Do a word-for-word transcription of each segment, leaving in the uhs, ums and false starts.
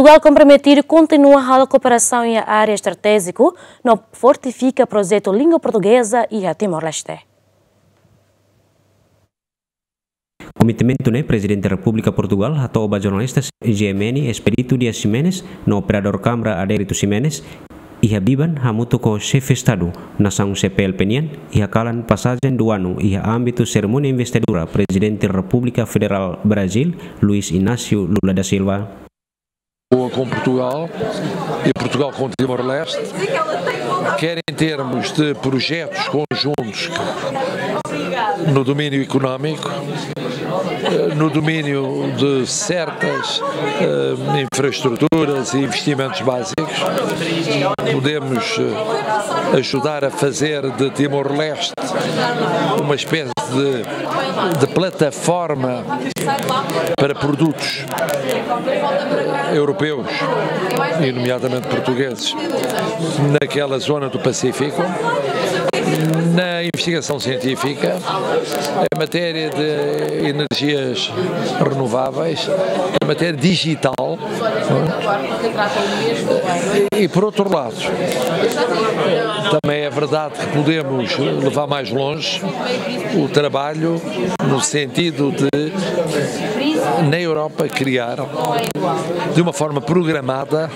Portugal komprometidu kontinua halo kooperasaun iha área estratéjiku no fortifika projetu língua portugeza iha Timor-Leste. Komitmentu ne'e Prezidente Repúblika Portugal hato'o ba jornalista G M N Expedito Dias Ximenes no operadór Câmara Adérito Ximenes iha biban hamutuk ho Xefe Estadu nasaun C P L P nian iha kalan pasajen duanu iha ámbitu serimónia investidura Prezidente Repúblika Federal Brazil Luiz Inácio Lula da Silva. Boa com Portugal e Portugal com Timor-Leste, quer em termos de projetos conjuntos no domínio económico, eh, no domínio de certas, eh, infraestruturas e investimentos básicos, podemos, eh, ajudar a fazer de Timor-Leste uma espécie de, de plataforma para produtos europeus, e nomeadamente portugueses, naquela zona do Pacífico, na investigação científica, em matéria de energias renováveis, em matéria digital, não é? E, por outro lado, também é verdade que podemos levar mais longe o trabalho no sentido de, na Europa, criar de uma forma programada,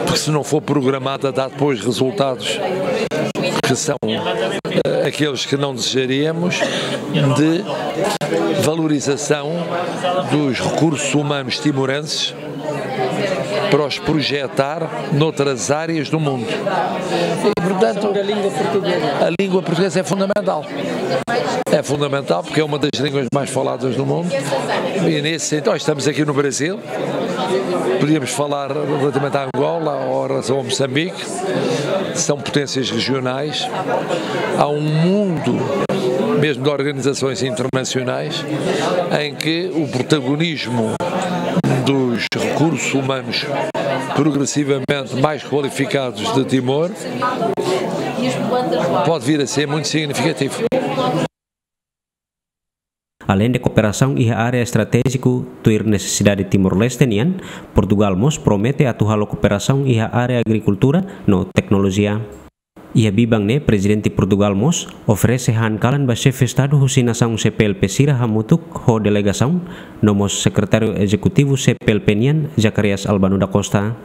porque se não for programada dá depois resultados que são, eh, aqueles que não desejaríamos, de valorização dos recursos humanos timorenses para os projetar noutras áreas do mundo. E, portanto, a língua portuguesa é fundamental. É fundamental porque é uma das línguas mais faladas do mundo. E nesse sentido, nós estamos aqui no Brasil, podíamos falar relativamente à Angola ou em relação a Moçambique, são potências regionais. Há um mundo, mesmo de organizações internacionais, em que o protagonismo dos recursos humanos progressivamente mais qualificados de Timor pode vir a ser muito significativo. Além de kooperasaun iha área estratéjiku tuir nesesidade Timor-Leste nian, Portugal mós promete atu halo kooperasaun iha área agrikultura no teknolojia. Iha biban ne'e Prezidente Portugal mós oferese han kalan ba Xefe Estadu husi nasaun C P L P sira hamutuk ho delegasaun, no mós Sekretáriu Ezekutivu C P L P nian Zacarias Albano da Costa.